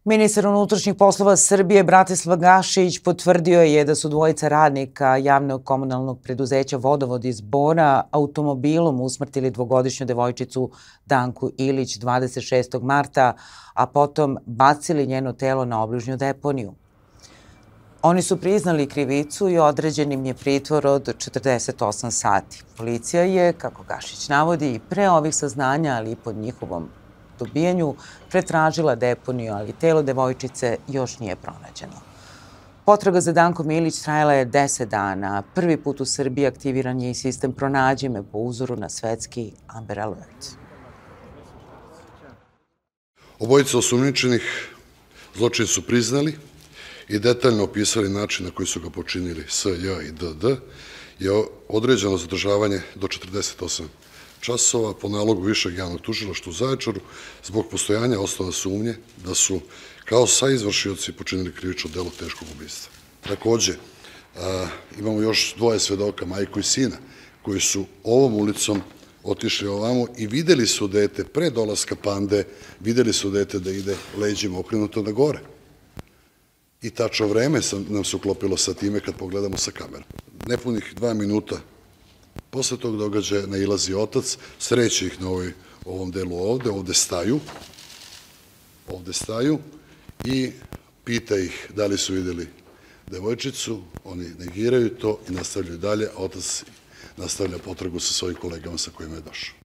Ministar unutrašnjih poslova Srbije Bratislav Gašić potvrdio je da su dvojica radnika javnog komunalnog preduzeća Vodovod iz Bora automobilom usmrtili dvogodišnju devojčicu Danku Ilić 26. marta, a potom bacili njeno telo na obližnju deponiju. Oni su priznali krivicu i određen im je pritvor od 48 sati. Policija je, kako Gašić navodi, i pre ovih saznanja, ali i po njihovom dobijanju, pretražila deponiju, ali telo devojčice još nije pronađeno. Potraga za Dankom Ilić trajala je 10 dana. Prvi put u Srbiji aktiviran je i sistem Pronađi me po uzoru na svetski Amber Alert. Obojica osumnjičenih zločin su priznali i detaljno opisali način na koji su ga počinili S.J. i D.D. je određeno zadržavanje do 48 časova po nalogu Višeg javnog tužilaštva u Zaječaru zbog postojanja osnova sumnje da su kao saizvršioci počinili krivično delo teškog ubistva. Takođe, imamo još dvoje svedoka, majku i sina, koji su ovom ulicom otišli ovamo i videli su dete pre dolaska Pande, videli su dete da ide leđima okrenuto na gore. I tačno vreme nam se uklopilo sa time kad pogledamo sa kamerom. Nepunih 2 minuta posle tog događaja nailazi otac, sreće ih na ovom delu ovde staju i pita ih da li su videli devojčicu, oni negiraju to i nastavljaju dalje, a otac nastavlja potragu sa svojim kolegama sa kojima je došao.